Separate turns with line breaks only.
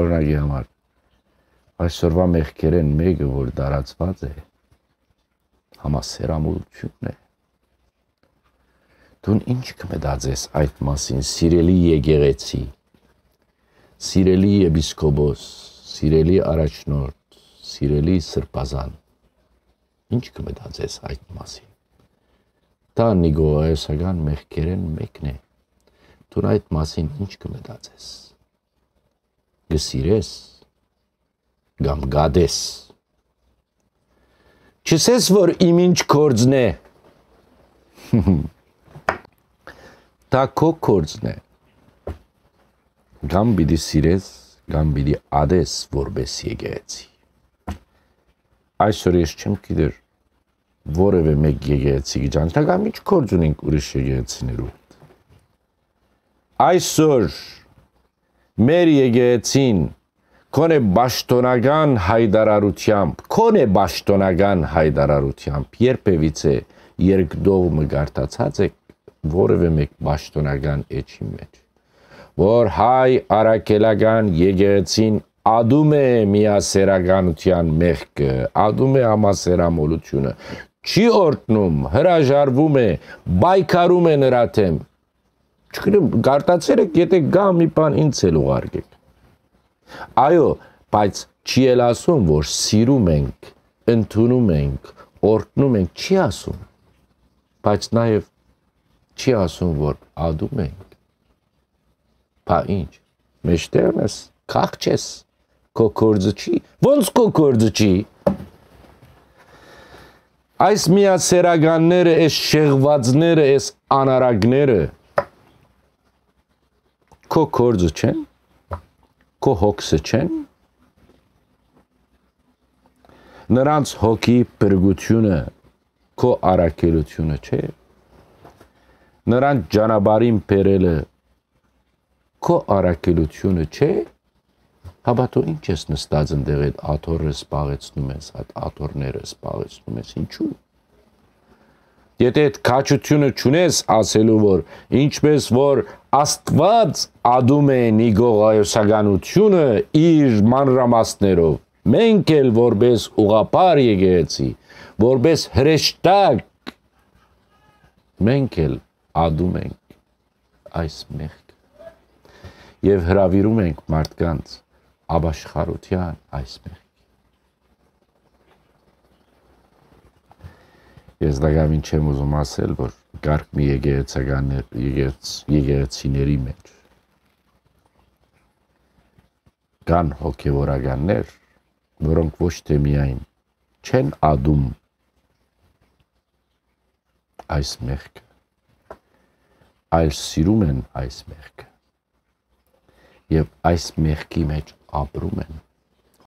օրինակի համար այսօրվա մեղքերեն մեկը, որ դարածված է, համասերամոլությունն է։ Դու ինչ կմտածես այդ մասին, սիրելի եկեղեցի, սիրելի եպիսկոպոս, սիրելի առաջնորդ, սիրելի սրբազան, ինչ կմտածես այդ մասին։ Դա նիգոայոսական մեղքերեն մեկն է։ Դու այդ մասին ինչ կմտածես։ Գսիրես կամ գադես։ Չսես, որ իմ ինչ կործն է։ Դա քո կործն է։ Կամ պիտի սիրես, կամ պիտի ադես որպես եկեղեցի։ Այսօր ես չեմ գիտեր որևէ մեկ եկեղեցի գիջանք, կամ ինչ կորձ ունենք ուրիշ եկեղեցիներու։ Այսօր մեր եկեղեցին քոնե բաշտոնական հայդարարությամբ, երբևիցե երկդողմը գարտացած եք որևէ մեկ բաշտոնական էջի մեջ, որ հայ արաքելական եկեղեցին ադում է միասերականության մեղքը, ադում է համասերամոլությունը, չի օրհնում, հրաժարվում է, պայքարում է նրա դեմ։ Չգիտեմ, գարտացել եք, եթե գա մի բան ինձ էլ ուղարկեք։ Այո, բայց չի էլ ասում, որ սիրում ենք, ընդունում ենք, օրհնում ենք, չի ասում։ Բայց նաև չի ասում, որ ադում ենք։ Բա ինչ, մեջտեղն ես, կախ չես, քո կործը չի, ոնց քո կործը չի։ Այս միասերականները, այս շեղվածները, այս անարագները քո կործը չեն, քո հոգսը չեն, նրանց հոգի փրկությունը քո առաքելությունը չէ, նրանց ճանապարհին բերելը քո առաքելությունը չէ, հաբա դու ինչ ես նստած ընդեղ այդ աթոռը սպաղեցնում ես, այդ աթոռները սպաղեցնում ես, ինչու։ Եթե այդ քաջությունը չունես ասելու, որ ինչպես որ Աստված ադում է նիգողայոսականությունը իր մանրամասներով, մենք էլ որպես ուղղափառ եկեղեցի, որպես հրեշտակ, մենք էլ ադում ենք այս մեղքը եւ հրավիրում ենք մարդկանց ապաշխարության այս մեղքի։ Ես դակամին չեմ ուզում ասել, որ կարգ մի եկեղեցիների մեջ կան հոգևորականներ, որոնք ոչ թե միայն չեն ադում այս մեղքը, այլ սիրում են այս մեղքը եւ այս մեղքի մեջ ապրում են։